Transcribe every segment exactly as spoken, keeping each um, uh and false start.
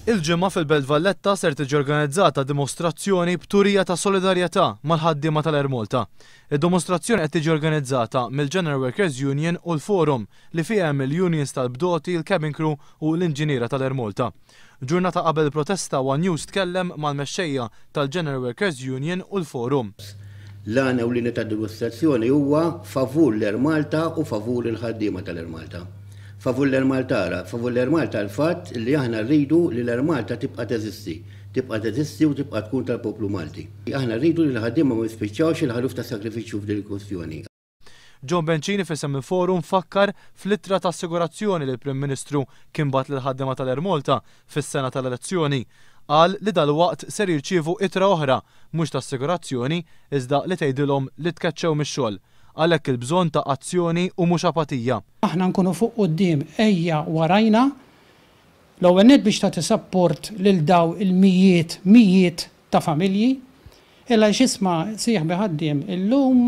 Il-Ġimgħa fil-Belt Valletta ser tiġi organizzata dimostrazzjoni b'turija ta' solidarjetà mal-ħaddiema tal-Air Malta. Id-dimostrazzjoni qed tiġi organizzata mill-General Workers Union u l-Forum li fiha hemm il-unions tal-bdoti, il-cabin crew u l-inġiniera tal-Air Malta. Ġurnata qabel protesta, One News tkellem mal-mexxejja tal-General Workers Union u l-Forum. L-għan ewlieni tad-dimostrazzjoni huwa favur l-Air Malta u favur il-ħaddiema tal-Air Malta. Favur l-Air Malta, favur l-Air Malta l-fatt li aħna rridu li l-Air Malta tibqa' teżisti, tibqa' teżisti u tibqa' tkun tal-poplu Malti. Aħna rridu li l-ħaddiema ma jispiċċawx il-ħaruf ta' sakrifiċċju f'din il-kwestjoni. John Bencini f'isem il-Forum fakkar fl-ittra ta' assigurazzjoni li l-Prim Ministru kien bagħat lill-ħaddiema tal-Air Malta fis-sena tal-elezzjoni. Qal li dalwaqt ser jirċievu ittra oħra, mhux ta' assigurazzjoni, iżda li tgħidilhom li tkeċċew mix-xogħol. Għalhekk il-bżonn ta' azzjoni u mhux apatija. Aħna nkunu fuq quddiem, ejja warajna, l-ewwel nett biex tagħti support lil daw il-mijiet, mijiet ta' familji. Illa x'isma' sieħbi ħaddiem, illum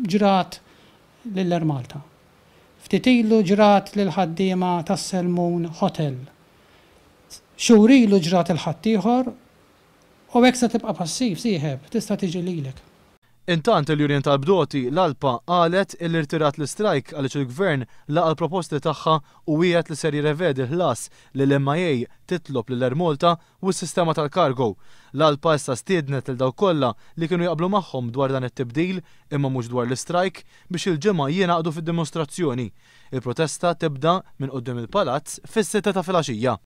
ġrat lill-Air Malta. Ftit ilu ġrat lil ħaddiema tas-Selmun Hotel. Xhur ilu ġrat il-ħaddieħor u hekk se tibqa' passiv, sieħeb, tista' tiġi lilek. Intant il-Union tal-Bdoti, l-Alpa, qalet illi rtirat l-istrajk għaliex il-Gvern laqa l-proposti tagħha u wiegħed li ser jirrevedi l-ħlas li l-M I A titlob lil Air Malta u s-sistema tal-kargo. L-Alpa issa stiednet lil dawk kollha li kienu jaqblu magħhom dwar dan it-tibdil imma mhux dwar l-istrajk biex il-Ġimgħa jingħaqdu fid-dimostrazzjoni. Il-protesta tibda minn quddiem il-palazz fis-sitta ta' filgħaxija.